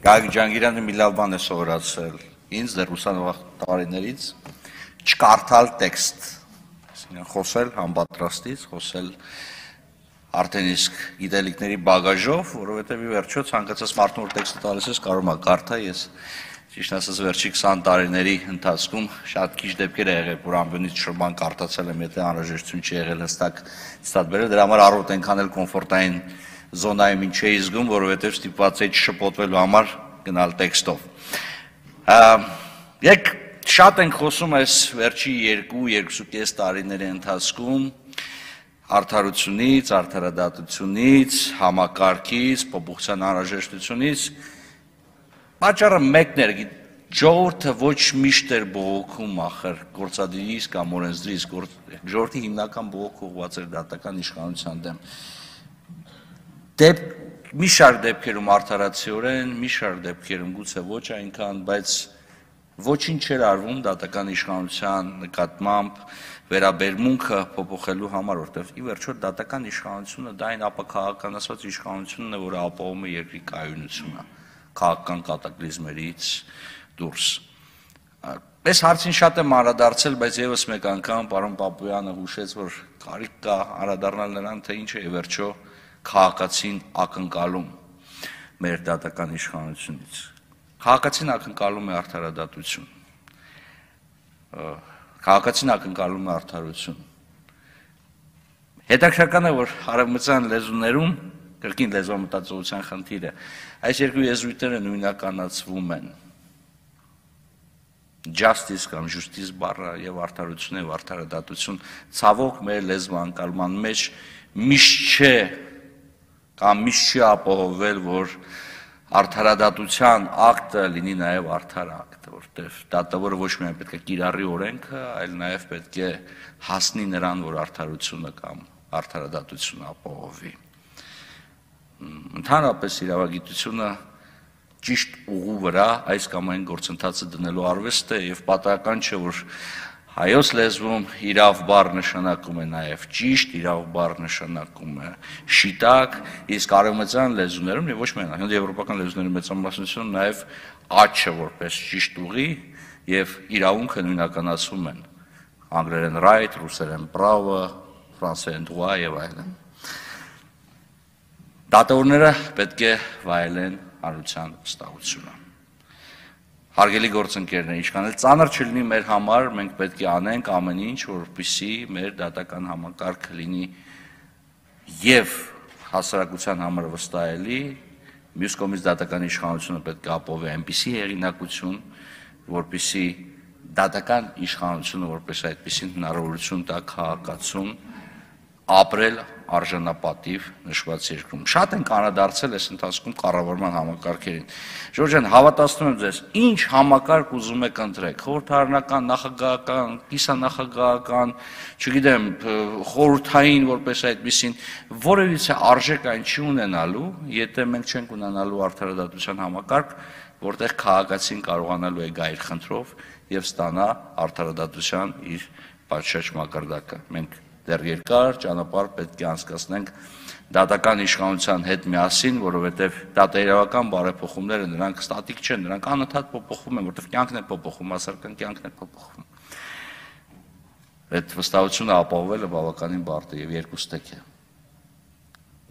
Գագիկ Ջանգիրյանը մի լավ բան է սովորացրել ինձ դեռ ուսանող տարիներից չկարդալ տեքստ, խոսել համապատրաստից, խոսել արդեն իսկ գիտելիքների բագաժով, որովհետև ի վերջո ցանկացած մարդու որ տեքստը տալիս ես կարող է կարդալ, ես ճիշտ ասած վերջի 20 տարիների ընթացքում շատ քիչ դեպքեր է եղել, որ ամբողջ շրջան կարդացել եմ, եթե անհրաժեշտություն չի եղել հստակ ստատ բերել, դրա համար առօր այնքան էլ կոմֆորտային զոնայում ինչ էի զգում, որովհետև ստիպված էի չշփոթվելու համար գնալ տեքստով։ Եկ շատ ենք խոսում այս վերջի 2-2.5 տարիների ընթացքում արդարությունից, արդարադատությունից, համակարգից, փոփոխության անհրաժեշտությունից, պատճառը մեկն էր, ժողովուրդը ոչ միշտ էր բողոքում ախր գործադիրից կամ օրենսդրից, ժողովրդի հիմնական բողոքը ուղղված էր դատական իշխանության դեմ։ Մի շարք դեպքերում արդարացիորեն, մի շարք դեպքերում գուցե ոչ այնքան, բայց ոչինչ չէր արվում դատական իշխանության նկատմամբ վերաբերմունքը փոփոխելու համար, որտեղ ի վերջո դատական իշխանությունը դա այն ապաքաղաքականացված իշխանությունն է, որը ապահովում է երկրի կայունությունը, քաղաքական կատակլիզմերից դուրս։ Այս հարցին շատ եմ անդրադարձել, բայց եւս մեկ անգամ պարոն Պապոյանը հուշեց, որ կարիք կա անդրադառնալ նրան, թե ինչ է ի վերջո քաղաքացին ակնկալում մեր դատական իշխանությունից։ Քաղաքացին ակնկալում է արդարադատություն։ Քաղաքացին ակնկալում է արդարություն։ Հետաքրքրական է, որ արևմտյան լեզուներում կրկին լեզվամտածողության խնդիրը այս երկու եզրույթները նույնականացվում են։ Justice կամ justice բառը եւ արդարություն եւ արդարադատություն ցավոք մեր լեզվանկալման մեջ միշտ չէ կամ միշտ չի ապահովել, որ արդարադատության ակտը լինի նաև արդար ակտ, որտեղ դատավորը ոչ միայն պետք է կիրառի օրենքը, այլ նաև պետք է հասնի նրան, որ արդարությունը կամ արդարադատությունը ապահովի։ Ընդհանրապես իրավագիտությունը ճիշտ ուղու վրա այս կամ այն գործընթացը դնելու արվեստ է եւ պատահական չէ, որ հայոց լեզվում իրավ բառ նշանակում է նաև ճիշտ, իրավ բառ նշանակում է շիտակ, իսկ արևմտյան լեզուներում եւ ոչ միայն եվրոպական լեզուների մեծամասնությունում նաև աչքը որպես ճիշտ ուղի եւ իրավունքը նույնականացվում են անգլերեն right, ռուսերեն право, ֆրանսերեն droit եւ այլն։ Դատավորները պետք է վայելեն հանրության վստահությունը։ Հարգելի գործընկերներ, ինչքան էլ ծանր չլինի մեր համար, մենք պետք է անենք ամեն ինչ, որպեսզի մեր դատական համակարգը լինի եւ հասարակության համար վստահելի, մյուս կողմից դատական իշխանությունը պետք է ապահովի այնպիսի հեղինակություն, որպեսզի դատական իշխանությունը որպես այդպիսին հնարավորություն տա քաղաքացուն ապրել արժանապատիվ նշված երկրում։ Շատ ենք անդրադարձել այս ընթացքում կառավարման համակարգերին։ Ժորժ ջան, հավատացնում եմ ձեզ, ինչ համակարգ ուզում եք ընտրեք, խորհրդարանական, նախագահական, կիսանախագահական, չգիտեմ, խորհրդային որպես այդպիսին, որևիցե արժեք այն չի ունենալու, եթե մենք չենք ունենալու արդարադատության համակարգ, որտեղ քաղաքացին կարողանալու է գա իր խնդրով եւ ստանա արդարադատության իր պատշաճ մակարդակը։ Մենք դեռ երկար ճանապարհ պետք է անցկացնենք դատական իշխանության հետ միասին, որովհետև դատաիրավական բարեփոխումները նրանք ստատիկ չեն, նրանք անընդհատ փոփոխվում են, որովհետև կյանքն է փոփոխվում, հասարակական կյանքն է փոփոխվում։ Այդ վստահությունը ապահովելը բավականին բարդ է եւ երկուստեք է։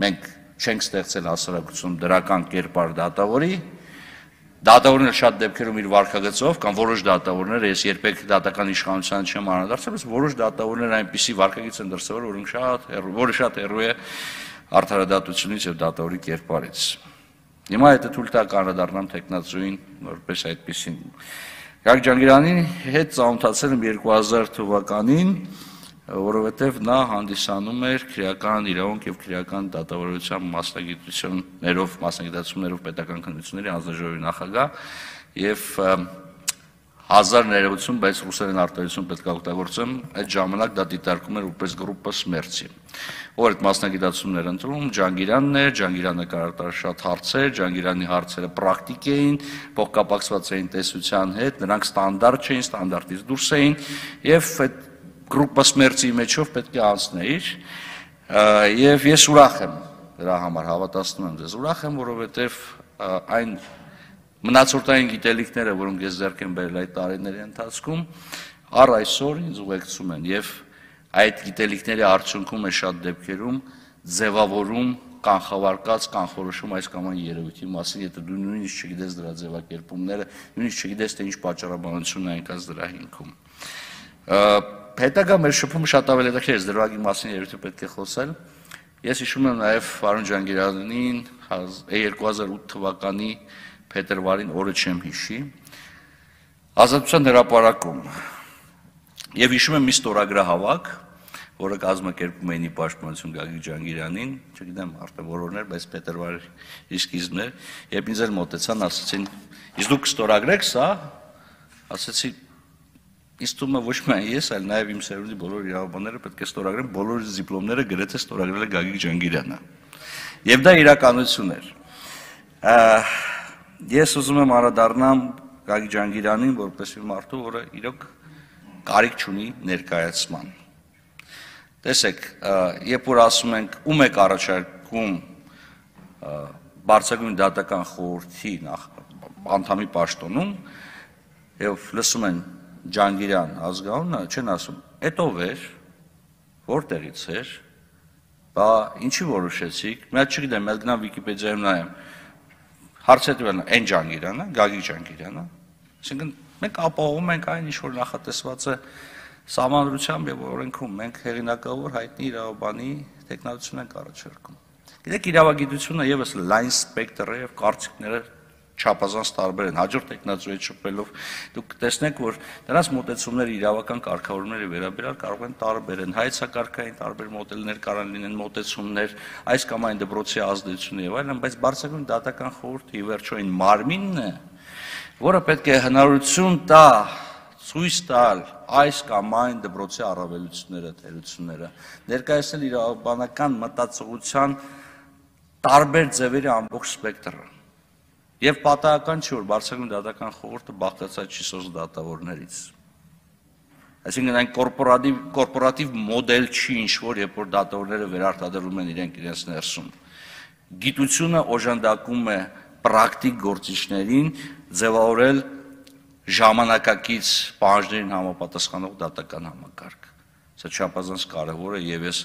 Մենք չենք ստեղծել հասարակությունում դրական կերպար դատավորի, դատավորները շատ դեպքերում իր վարքագծով կամ որոշ դատավորներ, ես երբեք դատական իշխանության չեմ անդրադարձել, բայց որոշ դատավորներ այնպիսի վարքագիծ են դրսևորել, որը շատ հեռու է արդարադատությունից եւ դատավորի կերպարից։ Հիմա եթե թույլ տաք անդրադառնամ տեխնացուին որպես այդպիսին։ Գագիկ Ջանգիրյանի հետ ծանոթացել եմ 2000 թվականին, որովհետև նա հանդիսանում էր քրեական իրավունք եւ քրեական դատավորության մասնագիտացումներով պետական քննությունների հանձնաժողովի նախագահ եւ 1000 ներողություն, բայց ռուսերեն արտահայտություն պետք է օգտագործեմ, այդ ժամանակ դա դիտարկում էր որպես գրուպը Սմերցի։ Ով այդ մասնագիտացումներ ընտրում, Ջանգիրյանն էր, Ջանգիրյանը կարողացավ շատ հարցեր, Ջանգիրյանի հարցերը պրակտիկ էին, փոխկապակցված էին տեսության հետ, նրանք ստանդարտ չէին, ստանդարտից դուրս էին եւ այդ գրուպը Սմերցի մեջով պետք է անցնեիր եւ ես ուրախ եմ դրա համար, հավատացնում եմ ձեզ, ուրախ եմ, որովհետեւ այն մնացորդային գիտելիքները, որոնք ես ձեռք եմ բերել այդ տարիների ընթացքում, առ այսօր ինձ ուղեկցում են եւ այդ գիտելիքների արդյունքում է շատ դեպքերում ձևավորում կանխավարկած կանխորոշում այս կամ այն երևույթի մասին, եթե դու նույնիսկ չգիտես դրա ձևակերպումները, նույնիսկ չգիտես թե ինչ պատճառաբանություն է այնքան դրա հիմքում։ Հետագա մեր շփումը շատ ավելի հետաքրքիր է, դրվագի մասին երևի պետք է խոսել։ Ես հիշում եմ նաև Վարոն Ջանգիրանին 2008 թվականի փետրվարին, օրը չեմ հիշի, Ազատության հրապարակում։ Եվ հիշում եմ մի ստորագրահավաք, որը կազմակերպում էին ի պաշտպանություն Գագիկ Ջանգիրանին, չգիտեմ արդեն որորներ, բայց փետրվարի սկիզբն էր, երբ ինձ էլ մոտեցան, ասացին, իսկ դուք կստորագրեք սա, ասացի, ինձ թվում է ոչ միայն ես, այլ նաև իմ սերունդի բոլոր իրավաբանները պետք է ստորագրեն, բոլոր դիպլոմները գրեթե ստորագրել է Գագիկ Ջանգիրյանը։ Եվ դա իրականություն էր։ Ես ուզում եմ անդրադառնամ Գագիկ Ջանգիրանին, որպես մի մարդու, որը իրոք կարիք չունի ներկայացման։ Տեսեք, երբ որ ասում ենք ում եք առաջարկում բարձրագույն դատական խորհրդի անդամի պաշտոնում, եւ լսում են Ջանգիրյան ազգանունը, չեն ասում, էդ ով էր, որտեղից էր, բա ինչի որոշեցիք, մի հատ չգիտեմ, մի հատ գնամ Վիկիպեդիայում նայեմ, հարցեթվելն այն Ջանգիրյանը, Գագիկ Ջանգիրյանը, այսինքն մենք ապահովում ենք այն, ինչ որ նախատեսված է Սահմանադրությամբ եւ օրենքում, մենք հեղինակավոր հայտնի իրավաբանի տեխնոլոգիություն ենք առաջարկում։ Գիտեք, իրավագիտությունը եւս լայն սպեկտր է եւ կարծիքները չափազանց տարբեր են, հաջորդ տեխնոլոգիայի շփվելով դուք տեսնեք, որ դրանց մոտեցումները իրավական կարգավորումների վերաբերյալ կարող են տարբեր են, հայեցակարգային տարբեր մոդելներ կարող լինեն, մոտեցումներ, այս կամ այն դպրոցի ազդեցությունը եւ այլն, բայց բարձրագույն դատական խորհուրդը ի վերջո այն մարմինն է, որը պետք է հնարավորություն տա ցույց տալ այս կամ այն դպրոցի առավելությունները, թերությունները, ներկայացնել իրավաբանական մտածողության տարբեր ձևերի ամբողջ սպեկտրը։ Եվ պատահական չի, որ բարձրագույն դատական խորհուրդը բաղկացած չի սոց դատավորներից։ Այսինքն այն կորպորատիվ մոդել չի ինչ-որ, երբ որ դատավորները վերարտադրում են իրենց ներսում։ Գիտությունը օժանդակում է պրակտիկ գործիչներին ձևավորել ժամանակակից պահանջներին համապատասխանող դատական համակարգ։ Սա չափազանց կարևոր է եւ ես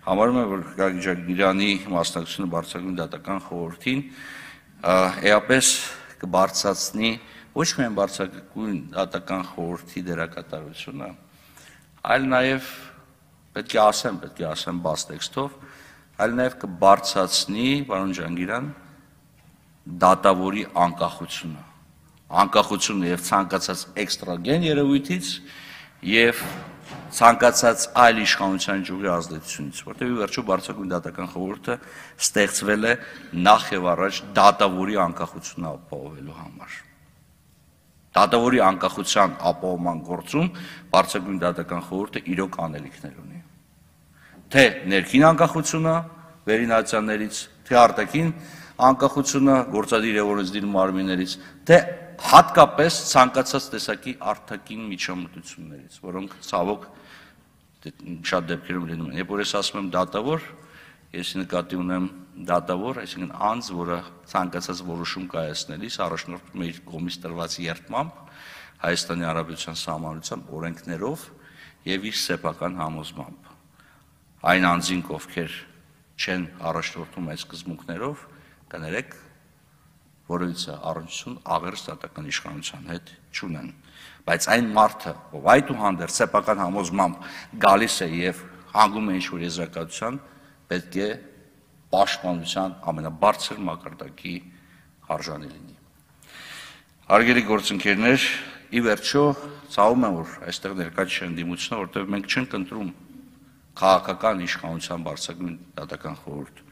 համարում եմ, որ Գագիկ Ջանգիրյանի մասնակցությունը բարձրագույն դատական խորհրդին էապես կբարձրացնի ոչ միայն բարձրագույն դատական խորհրդի դերակատարությունը, այլ նաեւ պետք է ասեմ բաց տեքստով, այլ նաեւ կբարձրացնի, պարոն Ջանգիրյան, դատավորի անկախությունը եւ ցանկացած էքստրագեն երևույթից եւ ցանկացած այլ իշխանության ճյուղի ազդեցությունից, որտեղ ի վերջո բարձրագույն դատական խորհուրդը ստեղծվել է նախ եւ առաջ դատավորի անկախությունը ապահովելու համար։ Դատավորի անկախության ապահովման գործում բարձրագույն դատական խորհուրդը իրոք անելիքներ ունի։ Թե ներքին անկախությունը վերինացիաներից, թե արտաքին անկախությունը գործադիր եւ օրենսդիր մարմիններից, թե հատկապես ցանկացած տեսակի արտաքին միջամտություններից, որոնք ցավոք շատ դեպքերում լինում են։ Երբ որ ես ասում եմ դատավոր, ես նկատի ունեմ դատավոր, այսինքն անձ, որը ցանկացած որոշում կայացնելիս առաջնորդվում է իր կողմից տրված երդմամբ, Հայաստանի Հանրապետության Սահմանադրությամբ, օրենքներով եւ իր սեփական համոզմամբ։ Այն անձինք, ովքեր չեն առաջնորդվում այս սկզբունքներով, կներեք, որովհետեւ առնչություն աղերս դատական իշխանության հետ չունեն, բայց այն մարդը, ով այդուհանդերձ սեփական համոզմամբ գալիս է եւ հանգում է ինչ-որ եզրակացության, պետք է պաշտպանության ամենաբարձր մակարդակի արժանի լինի։ Հարգելի գործընկերներ, ի վերջո ցավում եմ, որ այստեղ ներկա չեն դիմությունը, որտեղ մենք չենք ընտրում քաղաքական իշխանության բարձրագույն դատական խորհուրդ,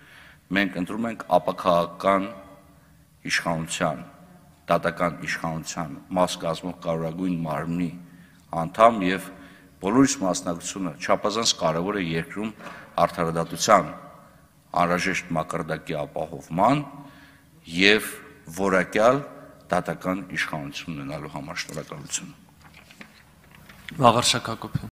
մենք ընտրում ենք ապաքաղաքական իշխանության, դատական իշխանության մաս կազմող կարևորագույն մարմնի անդամ եւ բոլորիս մասնակցությունը չափազանց կարևոր է երկրում արդարադատության անհրաժեշտ մակարդակի ապահովման եւ որակյալ դատական իշխանություն ունենալու համար։ Շնորհակալություն։ Վաղարշակ Հակոբյան։